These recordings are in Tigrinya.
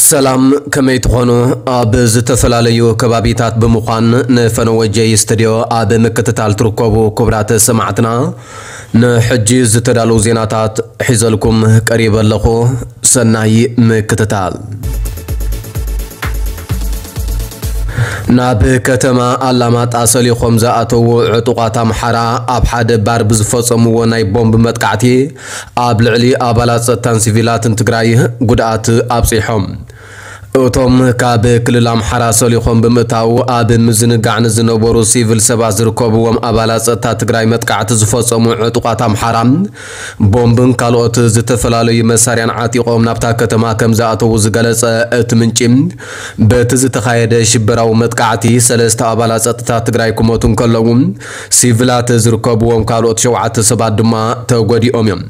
ሰላም፣ ከመይ ትኾኑ? ኣብ ዝተፈላለዩ ከባቢታት ብምዃን ንፈነወ ጀይ ስትድዮ ኣብ ምክትታል ትርከቡ ክቡራት ሰማዕትና፣ ንሕጂ ዝተዳለዉ ዜናታት ሒዘልኩም ቀሪበ ኣለኹ። ሰናይ ምክትታል። ናብ ከተማ ኣላማጣ ሰሊኾም ዝኣተዉ ዕጡቓት ኣምሓራ ኣብ ሓደ ባር ብዝፈጸምዎ ናይ ቦምብ መጥቃዕቲ ኣብ ልዕሊ ኣባላት ጸጥታን ሲቪላትን ትግራይ ጉድኣት ኣብጺሖም። እቶም ካብ ክልል ኣምሓራ ሰሊኾም ብምእታው ኣብ ምዝንጋዕ ንዝነበሩ ሲቪል ሰባት ዝርከብዎም ኣባላት ጸጥታ ትግራይ መጥቃዕቲ ዝፈጸሙ ዕጡቓት ኣምሓራ፣ ቦምብን ካልኦት ዝተፈላለዩ መሳርያን ዓጢቖም ናብታ ከተማ ከም ዝኣተዉ ዝገለጸ እቲ ምንጪ፣ በቲ ዝተኻየደ ሽበራዊ መጥቃዕቲ ሰለስተ ኣባላት ጸጥታ ትግራይ ክሞቱ እንከለዉ፣ ሲቪላት ዝርከብዎም ካልኦት ሸውዓተ ሰባት ድማ ተጎዲኦም እዮም።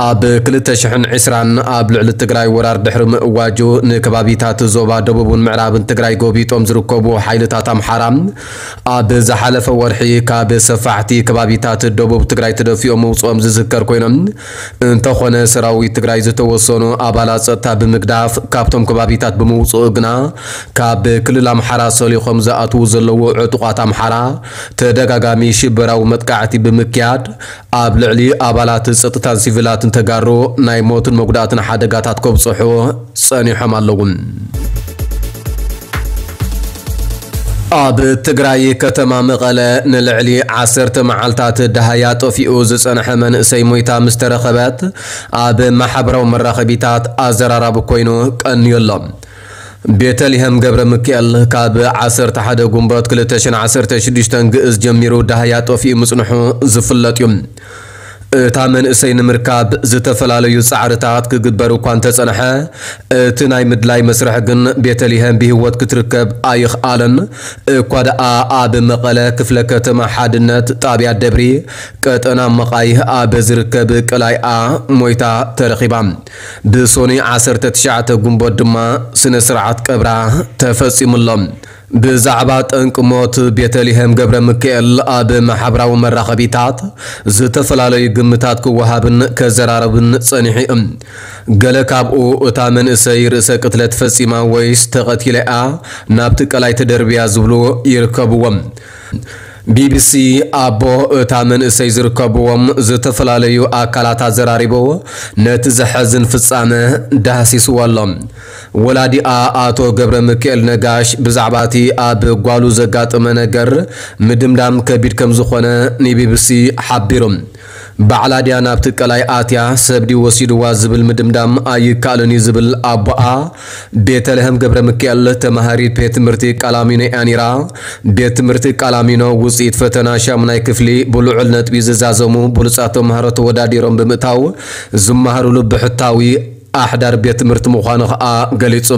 ኣብ ክልተ ሽሕን ዕስራን ኣብ ልዕሊ ትግራይ ወራር ድሕሪ ምእዋጁ፣ ንከባቢታት ዞባ ደቡብን ምዕራብን ትግራይ ጎቢጦም ዝርከቡ ሓይልታት ኣምሓራ፣ ኣብ ዝሓለፈ ወርሒ ካብ ሰፋሕቲ ከባቢታት ደቡብ ትግራይ ተደፊኦም ምውፅኦም ዝዝከር ኮይኖም፣ እንተኾነ ሰራዊት ትግራይ ዝተወሰኑ ኣባላት ጸጥታ ብምግዳፍ ካብቶም ከባቢታት ብምውፅኡ ግና፣ ካብ ክልል ኣምሓራ ሰሊኾም ዝኣትዉ ዘለዉ ዕጡቓት ኣምሓራ ተደጋጋሚ ሽበራዊ መጥቃዕቲ ብምክያድ፣ ኣብ ልዕሊ ኣባላት ጸጥታን ሲቪላትን ተጋሩ ናይ ሞትን መጉዳእትን ሓደጋታት ከብጽሑ ጸኒሖም ኣለዉ። ኣብ ትግራይ ከተማ መቐለ ንልዕሊ ዓሰርተ መዓልታት ደሃያ ጠፊኡ ዝጸንሐ መንእሰይ ሞይታ ምስ ተረኸበት፣ ኣብ ማሕበራዊ መራኸቢታት ኣዘራራቢ ኮይኑ ቀንዩ ኣሎ። ቤተልሔም ገብረ ሚካኤል ካብ ዓሰርተ ሓደ ጉንበት ክልተ ሽሕን ዓሰርተ ሽዱሽተን ግእዝ ጀሚሩ ደሃያ ጠፊኡ ምጽንሑ ዝፍለጥ እዩ። እታ መንእሰይ ንምርካብ ዝተፈላለዩ ጻዕርታት ክግበር እኳ እንተጸንሐ፣ እቲ ናይ ምድላይ መስርሕ ግን ቤተልሔም ብህይወት ክትርከብ ኣይኽኣለን። እኳ ደኣ ኣብ መቐለ ክፍለ ከተማ ሓድነት ጣብያ ደብሪ ቀጠና መቓይህ ኣብ ዝርከብ ቀላይኣ ሞይታ ተረኺባ። ብሶኒ ዓሰርተ ትሽዓተ ጉንበት ድማ ስነ ስርዓት ቀብራ ተፈጺሙሎም። ብዛዕባ ጠንቂ ሞት ቤተልሔም ገብረ ሚካኤል ኣብ ማሕበራዊ መራኸቢታት ዝተፈላለዩ ግምታት ክወሃብን ከዘራረብን ጸኒሑ እዩ። ገለ ካብኡ እታ መንእሰይ ርእሰ ቅትለት ፈጺማ ወይስ ተቐቲላ እያ ናብቲ ቀላይ ተደርብያ ዝብሉ ይርከብዎም። ቢቢሲ ኣቦ እታ መንእሰይ ዝርከብዎም ዝተፈላለዩ ኣካላት ኣዘራሪቡ ነቲ ዘሐዝን ፍጻመ ዳህሲስዎ ኣሎ። ወላዲኣ ኣቶ ገብረ ሚካኤል ነጋሽ ብዛዕባ እቲ ኣብ ጓሉ ዘጋጠመ ነገር ምድምዳም ከቢድ ከም ዝኾነ ንቢቢሲ ሓቢሩ። ባዕላ ድያ ናብቲ ቀላይ ኣትያ ሰብ ድዩ ወሲድዋ ዝብል ምድምዳም ኣይከኣልን እዩ ዝብል ኣቦኣ፣ ቤተልሔም ገብረ ሚካኤል ተማሃሪት ቤት ትምህርቲ ቃላሚኖ እያ ነይራ። ቤት ትምህርቲ ቃላሚኖ ውፅኢት ፈተና ሻሙናይ ክፍሊ ብልዑል ነጥቢ ዝዛዘሙ ብሉፃት ተምሃሮ ተወዳዲሮም ብምእታው ዝመሃሩሉ ብሕታዊ ኣሕዳር ቤት ትምህርቲ ምዃኑ ኸኣ ገሊጹ።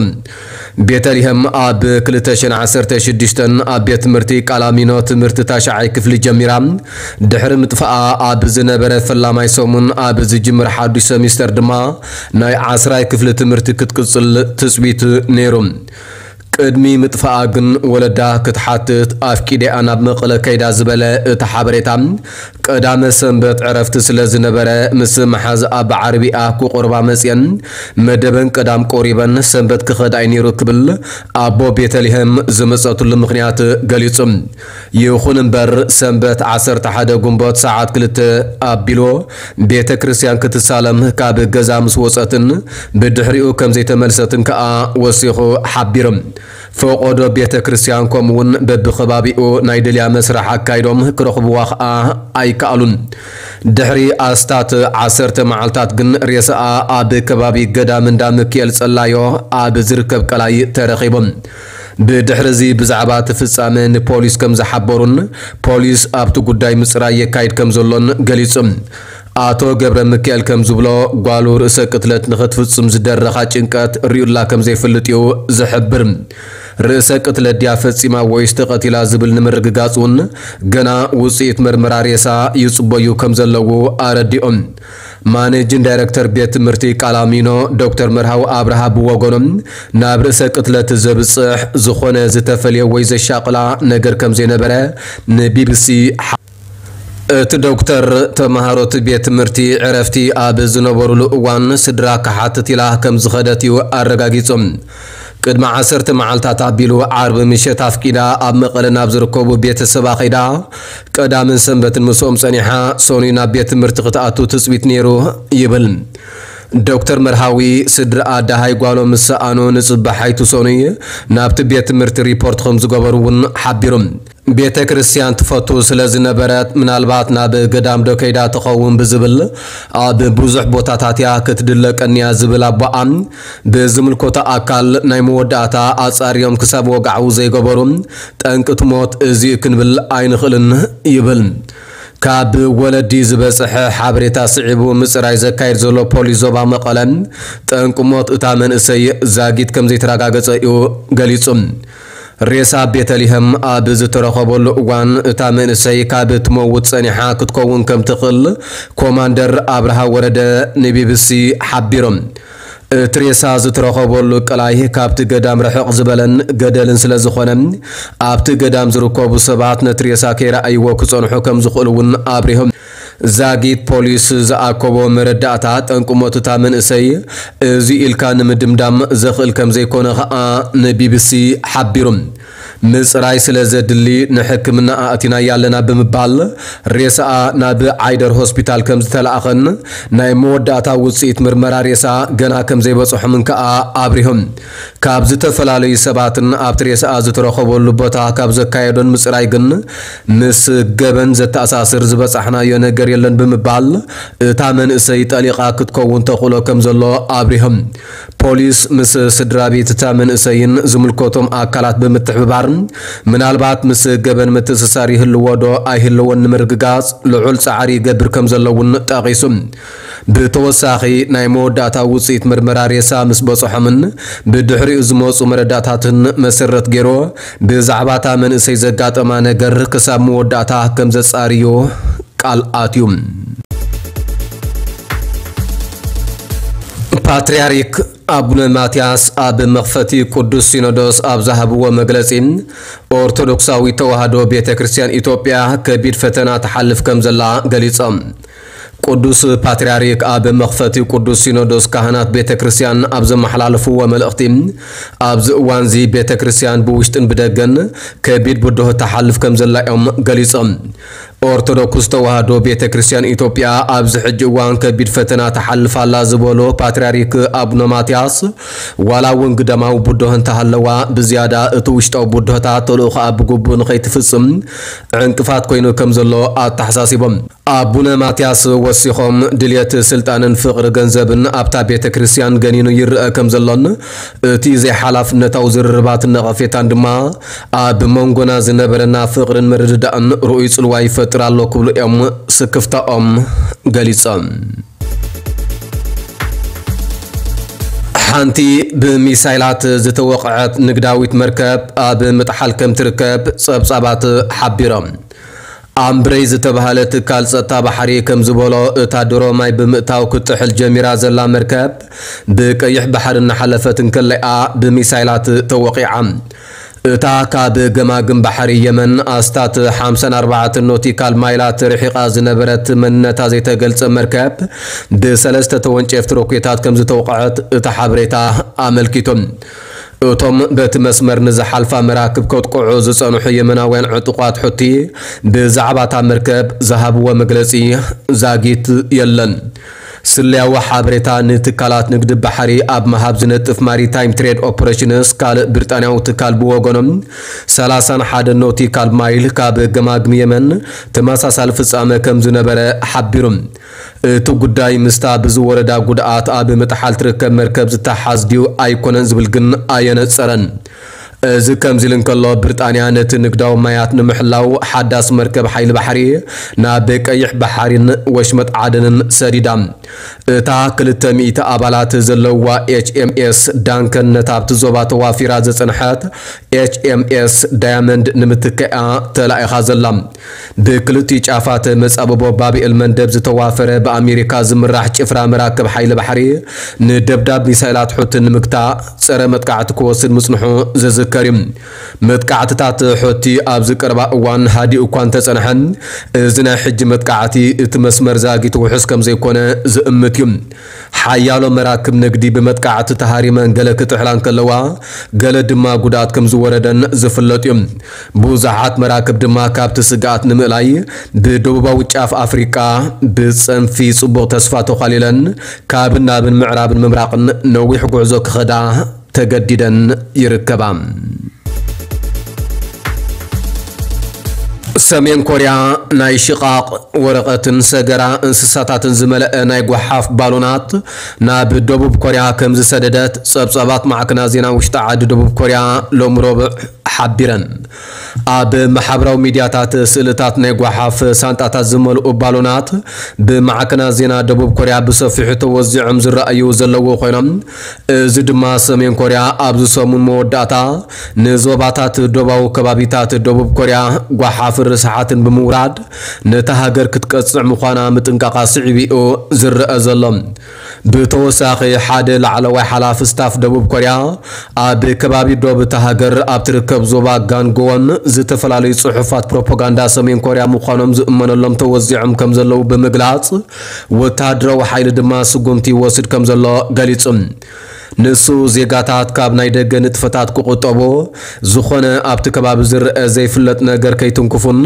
ቤተልሔም ኣብ ክልተ ሽሕን ዓሰርተ ሽዱሽተን ኣብ ቤት ትምህርቲ ቃላሚኖ ትምህርቲ ታሽዓይ ክፍሊ ጀሚራ። ድሕሪ ምጥፋኣ ኣብ ዝነበረ ፈላማይ ሰሙን ኣብ ዝጅምር ሓዱሽ ሰሚስተር ድማ ናይ ዓስራይ ክፍሊ ትምህርቲ ክትቅጽል ትጽቢት ነይሩ። ቅድሚ ምጥፋኣ ግን ወለዳ ክትሓትት ኣፍቂደኣ ናብ መቐለ ከይዳ ዝበለ እቲ ሓበሬታ፣ ቀዳመ ሰንበት ዕረፍቲ ስለ ዝነበረ ምስ መሓዝኣ ብዓረብይኣ ክቆርባ መጽየን፣ መደበን ቀዳም ቆሪበን ሰንበት ክኸዳ እዩ ነይሩ ክብል ኣቦ ቤተልሔም ዝመጸትሉ ምኽንያት ገሊጹ። ይኹን እምበር ሰንበት ዓሰርተ ሓደ ጉንቦት ሰዓት ክልተ ኣቢሉ ቤተ ክርስቲያን ክትሳለም ካብ ገዛ ምስ ወጸትን ብድሕሪኡ ከም ዘይተመልሰትን ከኣ ወሲኹ ሓቢሩ። ፈቖዶ ቤተ ክርስቲያን ከምኡውን በብኸባቢኡ ናይ ድልያ መስርሕ ኣካይዶም ክረኽብዋ ከኣ ኣይከኣሉን። ድሕሪ ኣስታት ዓሰርተ መዓልታት ግን ሬሳኣ ኣብ ከባቢ ገዳም እንዳ ሚካኤል ጸላዮ ኣብ ዝርከብ ቀላይ ተረኺቡ። ብድሕሪ እዚ ብዛዕባ እቲ ፍጻመ ንፖሊስ ከም ዝሓበሩን ፖሊስ ኣብቲ ጉዳይ ምጽራይ የካይድ ከም ዘሎን ገሊጹ። ኣቶ ገብረ ሚካኤል ከም ዝብሎ፣ ጓሉ ርእሰ ቅትለት ንኽትፍጽም ዝደረኻ ጭንቀት ርእዩላ ከም ዘይፈልጥ እዩ ዝሕብር። ርእሰ ቅትለት ድያ ፈጺማ ወይስ ተቐቲላ ዝብል ንምርግጋጽ እውን ገና ውጽኢት መርመራ ሬሳ ይጽበዩ ከም ዘለዉ ኣረዲኦም። ማኔጂን ዳይረክተር ቤት ትምህርቲ ቃላሚኖ ዶክተር መርሃዊ ኣብርሃ ብወገኖም፣ ናብ ርእሰ ቅትለት ዘብጽሕ ዝኾነ ዝተፈልየ ወይ ዘሻቕላ ነገር ከም ዘይነበረ ንቢቢሲ እቲ ዶክተር፣ ተመሃሮ እቲ ቤት ትምህርቲ ዕረፍቲ ኣብ ዝነበሩሉ እዋን ስድራ ክሓትት ኢላ ከም ዝኸደት እዩ ኣረጋጊጹ። ቅድሚ ዓሰርተ መዓልታት ኣቢሉ ዓርቢ ምሸት ኣፍቂዳ ኣብ መቐለ ናብ ዝርከቡ ቤተሰባ ከይዳ ቀዳምን ሰንበትን ምስኦም ጸኒሓ ሰኑይ ናብ ቤት ትምህርቲ ክትኣቱ ትጽቢት ነይሩ ይብል። ዶክተር መርሃዊ ስድራ ኣደ ሃይጓሎም ምስ ሰኣኑ ንጽባሓይቱ ሰኑይ ናብቲ ቤት ትምህርቲ ሪፖርት ከም ዝገበሩ እውን ሓቢሩ። ቤተ ክርስቲያን ትፈቱ ስለ ዝነበረት፣ ምናልባት ናብ ገዳም ዶ ከይዳ ትኸውን ብዝብል ኣብ ብዙሕ ቦታታት እያ ክትድለ ቀንያ ዝብል ኣቦኣ፣ ብዝምልከቶ ኣካል ናይ መወዳእታ ኣጻርዮም ክሳብ ወግዓዊ ዘይገበሩ፣ ጠንቂ እቲ ሞት እዚ ክንብል ኣይንኽእልን ይብል። ካብ ወለዲ ዝበጽሐ ሓበሬታ ስዒቡ ምጽራይ ዘካየድ ዘሎ ፖሊስ ዞባ መቐለ፣ ጠንቂ ሞት እታ መንእሰይ ዛጊት ከም ዘይተረጋገጸ እዩ ገሊጹ። ሬሳ ቤተልሔም ኣብ ዝተረኸበሉ እዋን፣ እታ መንእሰይ ካብ ትመውት ጸኒሓ ክትከውን ከም ትኽእል ኮማንደር ኣብርሃ ወረደ ንቢቢሲ ሓቢሮም። እቲ ሬሳ ዝተረኸበሉ ቀላይ ካብቲ ገዳም ርሕቕ ዝበለን ገደልን ስለ ዝኾነ፣ ኣብቲ ገዳም ዝርከቡ ሰባት ነቲ ሬሳ ከይረኣይዎ ክጸንሑ ከም ዝኽእሉ እውን ኣብሪሆም። ዛጊት ፖሊስ ዝኣከቦ መረዳእታ፣ ጠንቂ ሞት እታ መንእሰይ እዚ ኢልካ ንምድምዳም ዘኽእል ከም ዘይኮነ ኸኣ ንቢቢሲ ሓቢሩ። ምጽራይ ስለ ዘድሊ ንሕክምና ኣእቲናያ ኣለና ብምባል፣ ሬሳኣ ናብ ዓይደር ሆስፒታል ከም ዝተላእኸን ናይ መወዳእታ ውጽኢት ምርመራ ሬሳ ገና ከም ዘይበጽሖምን ከኣ ኣብሪሆም። ካብ ዝተፈላለዩ ሰባትን ኣብቲ ሬሳኣ ዝተረኸበሉ ቦታ ካብ ዘካየዶን ምጽራይ ግን ምስ ገበን ዘተኣሳስር ዝበጻሕናዮ ነገር የለን ብምባል፣ እታ መንእሰይ ጠሊቓ ክትከውን ተኽእሎ ከም ዘሎ ኣብሪሆም። ፖሊስ ምስ ስድራ ቤት እታ መንእሰይን ዝምልከቶም ኣካላት ብምትሕብባር፣ ምናልባት ምስ ገበን ምትእስሳር ይህልዎ ዶ ኣይህልዎን ንምርግጋጽ ልዑል ጻዕሪ ይገብር ከም ዘሎ እውን ጠቒሱ። ብተወሳኺ፣ ናይ መወዳእታ ውጽኢት ምርመራ ሬሳ ምስ በጽሖምን ብድሕሪኡ ዝመጹ መረዳእታትን መሰረት ገይሩ፣ ብዛዕባ እታ መንእሰይ ዘጋጠማ ነገር ክሳብ መወዳእታ ከም ዘጻርዩ ቃል ኣትዩ። ፓትርያርክ ኣቡነ ማትያስ ኣብ መኽፈቲ ቅዱስ ሲኖዶስ ኣብ ዝሃብዎ መግለጺ፣ ኦርቶዶክሳዊት ተዋህዶ ቤተ ክርስቲያን ኢትዮጵያ ከቢድ ፈተና ትሓልፍ ከም ዘላ ገሊጾም። ቅዱስ ፓትርያርክ ኣብ መኽፈቲ ቅዱስ ሲኖዶስ ካህናት ቤተ ክርስቲያን ኣብ ዘመሓላለፍዎ መልእኽቲ፣ ኣብዚ እዋንዚ ቤተ ክርስቲያን ብውሽጥን ብደገን ከቢድ ብድሆ ትሓልፍ ከም ዘላ እዮም ገሊጾም። ኦርቶዶክስ ተዋህዶ ቤተ ክርስቲያን ኢትዮጵያ ኣብዚ ሕጂ እዋን ከቢድ ፈተና ትሓልፍ ኣላ ዝበሉ ፓትርያርክ ኣቡነ ማትያስ፣ ዋላ እውን ግዳማዊ ብድሆ እንተሃለዋ፣ ብዝያዳ እቲ ውሽጣዊ ብድሆታት ተልእኾኣ ብግቡእ ንኸይትፍጽም ዕንቅፋት ኮይኑ ከም ዘሎ ኣተሓሳሲቦም። ኣቡነ ማትያስ ወሲኾም፣ ድልየት ስልጣንን ፍቕሪ ገንዘብን ኣብታ ቤተ ክርስቲያን ገኒኑ ይረአ ከም ዘሎን፣ እቲ ዘይሓላፍነታዊ ዝርርባትን ነቐፌታን ድማ ኣብ መንጎና ዝነበረና ፍቕርን ምርድዳእን ርኡይ ጽልዋ ይፈጥር ኣሎ ክብሉ እዮም ስክፍታኦም ገሊጾም። ሓንቲ ብሚሳይላት ዝተወቕዐት ንግዳዊት መርከብ ኣብ ምጥሓል ከም ትርከብ ጸብጻባት ሓቢሮም። ኣምብረይ ዝተባህለ ትካል ጸጥታ ባሕሪ ከም ዝበሎ፣ እታ ድሮ ማይ ብምእታው ክትጥሕል ጀሚራ ዘላ መርከብ ብቀይሕ ባሕሪ እናሓለፈት እንከለኣ ብሚሳይላት ተወቒዓ። እታ ካብ ገማግም ባሕሪ የመን ኣስታት ሓምሳን ኣርባዕተን ኖቲካል ማይላት ርሒቓ ዝነበረት መንነታ ዘይተገልጸ መርከብ ብሰለስተ ተወንጨፍቲ ሮኬታት ከም ዝተወቕዐት እቲ ሓበሬታ ኣመልኪቱ። እቶም በቲ መስመር ንዝሓልፋ መራክብ ከጥቅዑ ዝጸንሑ የመናውያን ዕጡቓት ሑቲ ብዛዕባ እታ መርከብ ዝሃብዎ መግለጺ ዛጊት የለን። ስለያዊ ሓበሬታ ንትካላት ንግዲ ባሕሪ ኣብ ምሃብ ዝነጥፍ ማሪታይም ትሬድ ኦፕሬሽንስ ካልእ ብሪጣንያዊ ትካል ብወገኖም፣ ሰላሳን ሓደ ኖቲካል ማይል ካብ ገማግም የመን ተመሳሳሊ ፍጻመ ከም ዝነበረ ሓቢሩ። እቲ ጉዳይ ምስታ ብዝወረዳ ጉድኣት ኣብ ምጥሓል ትርከብ መርከብ ዝተሓዝ ድዩ ኣይኮነን ዝብል ግን ኣየነጸረን። እዚ ከምዚ ኢሉ እንከሎ፣ ብሪጣንያ ነቲ ንግዳዊ ማያት ንምሕላው ሓዳስ መርከብ ሓይሊ ባሕሪ ናብ ቀይሕ ባሕሪን ወሽመጥ ዓደንን ሰዲዳ። እታ ክልተ ሚእቲ ኣባላት ዘለዋ ኤች ኤም ኤስ ዳንከን ነታ ኣብቲ ዞባ ተዋፊራ ዝጸንሐት ኤች ኤም ኤስ ዳያመንድ ንምትካኣ ተላኢኻ ዘላ። ብክልቲኡ ጫፋት መጻብቦ ባብኤል መንደብ ዝተዋፈረ ብኣሜሪካ ዝምራሕ ጭፍራ መራክብ ሓይሊ ባሕሪ ንደብዳብ ሚሳይላት ሑቲ ንምግታእ ጸረ መጥቃዕቲ ክወስድ ምጽንሑ ዝዝከር። ከሪም። መጥቃዕትታት ሑቲ ኣብዚ ቀረባ እዋን ሃዲኡ እኳ እንተጸንሐ፣ እዚ ናይ ሕጂ መጥቃዕቲ እቲ መስመር ዛጊት ውሑስ ከም ዘይኮነ ዝእምት እዩ። ሓያሎ መራክብ ንግዲ ብመጥቃዕቲ ተሃሪመን ገለ ክጥሕላ እንከለዋ፣ ገለ ድማ ጉድኣት ከም ዝወረደን ዝፍለጥ እዩ። ብዙሓት መራክብ ድማ ካብቲ ስግኣት ንምእላይ ብደቡባዊ ጫፍ ኣፍሪቃ ብጸንፊ ጽቡቕ ተስፋ ተዃሊለን ካብን ናብን ምዕራብን ምብራቕን ነዊሕ ጉዕዞ ክኸዳ ተገዲደን ይርከባ። ሰሜን ኮርያ ናይ ሽቓቕ ወረቐትን ሰገራ እንስሳታትን ዝመልአ ናይ ጓሓፍ ባሎናት ናብ ደቡብ ኮርያ ከም ዝሰደደት ጸብጻባት ማዕከናት ዜና ውሽጢ ዓዲ ደቡብ ኮርያ ሎም ረቡዕ ሓቢረን። ኣብ ማሕበራዊ ሚድያታት ስእልታት ናይ ጓሓፍ ሳንጣታት ዝመልኡ ባሎናት ብማዕከናት ዜና ደቡብ ኮርያ ብሰፊሑ ተወዚዖም ዝረኣዩ ዘለዉ ኮይኖም፣ እዚ ድማ ሰሜን ኮርያ ኣብዚ ሰሙን መወዳእታ ንዞባታት ዶባዊ ከባቢታት ደቡብ ኮርያ ጓሓፍን ርስሓትን ብምውራድ ነታ ሃገር ክትቀጽዕ ምዃና ምጥንቃቓ ስዒቡ እዩ ዝረአ ዘሎ። ብተወሳኺ ሓደ ላዕለዋይ ሓላፊ ስታፍ ደቡብ ኮርያ ኣብ ከባቢ ዶብ እታ ሃገር ኣብ ትርከብ ዞባ ጋንጎን ዝተፈላለዩ ጽሑፋት ፕሮፓጋንዳ ሰሜን ኮርያ ምዃኖም ዝእመነሎም ተወዚዖም ከም ዘለዉ ብምግላጽ፣ ወተሃደራዊ ሓይሊ ድማ ስጉምቲ ይወስድ ከም ዘሎ ገሊጹ። ንሱ ዜጋታት ካብ ናይ ደገ ንጥፈታት ክቑጠቡ፣ ዝኾነ ኣብቲ ከባቢ ዝረአ ዘይፍለጥ ነገር ከይትንክፉን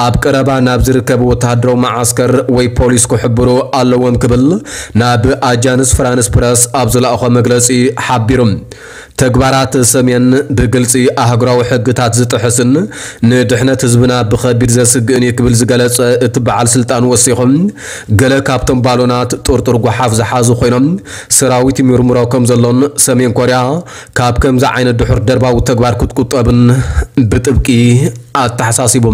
ኣብ ቀረባ ናብ ዝርከብ ወተሃደራዊ መዓስከር ወይ ፖሊስ ክሕብሩ ኣለዎም ክብል ናብ ኣጃንስ ፍራንስ ፕረስ ኣብ ዝለኣኾ መግለጺ ሓቢሩ። ተግባራት ሰሜን ብግልጺ ኣህጉራዊ ሕግታት ዝጥሕስን ንድሕነት ህዝብና ብኸቢድ ዘስግእን እዩ ክብል ዝገለጸ እቲ በዓል ስልጣን ወሲኹ፣ ገለ ካብቶም ባሎናት ጥርጡር ጓሓፍ ዝሓዙ ኮይኖም ሰራዊት ይምርምሮ ከም ዘሎን ሰሜን ኮርያ ካብ ከምዚ ዓይነት ድሑር ደርባዊ ተግባር ክትቁጠብን ብጥብቂ ኣተሓሳሲቡ።